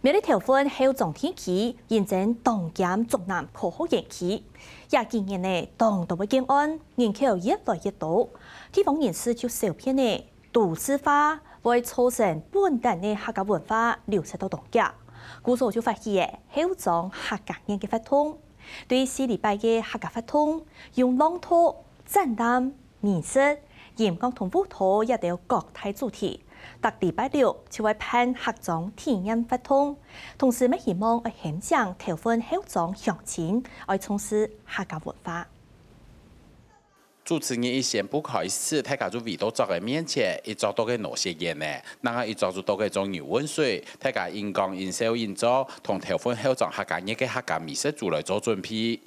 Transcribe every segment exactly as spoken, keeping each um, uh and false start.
苗栗頭份後庄地區，因爭當兼竹南科學園區，這幾年呢，當多个建案，人口越來越多，地方人士就愁騙呢，都市化會造成本旦个客家文化流失到當遽。故所就發起个後庄客家月个活動，對四禮拜个客家活動，用朗讀、展覽、美食、音樂同舞蹈這兜各大主題。逐禮拜六就會辦客庄體驗活動，同時乜希望愛喊醒頭份後庄鄉親，愛重視客家文化。主持人一宣布開始，大家就圍到桌个面前，一桌到个拿雪煙呢，另外一桌就到个裝牛汶水，大家緊講緊笑緊做，同頭份後庄客家月个客家美食組來做準備。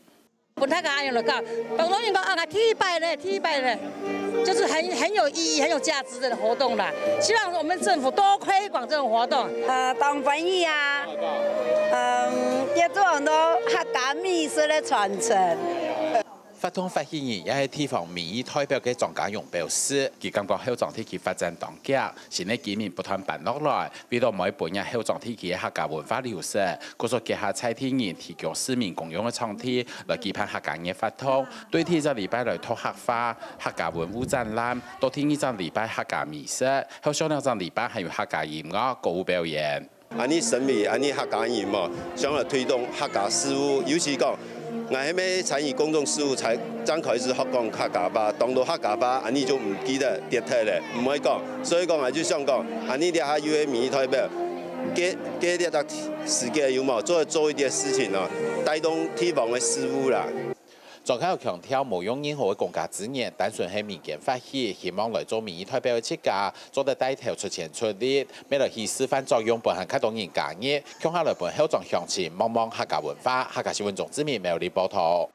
分大家恁樣來搞，當多人講啊，第一擺咧，第一擺咧，就是很很有意義、很有價值的活動啦。希望我們政府多推廣這種活動。呃，當歡喜啊，嗯，也做很多客家美食的傳承。活動發起人也係地方民意代表个莊家榮表示，佢感覺後庄地區發展當遽，新个居民不斷搬落來，為著毋愛分這後庄地區个客家文化流失，故所結合在地人提供市民公用个場地，來舉辦客家月活動。對第一隻禮拜來讀客話、客家文物展覽，到第二隻禮拜客家美食，後續兩隻禮拜還有客家音樂、歌舞表演。恁呢神秘，恁呢客家人嘛，想來推動客家事務，尤其講，𠊎係咩參與公眾事務才正開始學講客家話，當多客家話，恁呢就毋記得跌忒咧，毋會講。所以講，𠊎就想講，恁呢這下有个民意代表，該該這隻時間有無，做做一點事情哦，帶動地方个事務啦。 莊家強調無用任何个公家資源，單純係民間發起，希望來做民意代表个自家，做得帶頭出錢出力，乜來起示範作用，分還較多人加入，共下來分後庄鄉親望望客家文化。客家新聞鍾志明苗栗報導。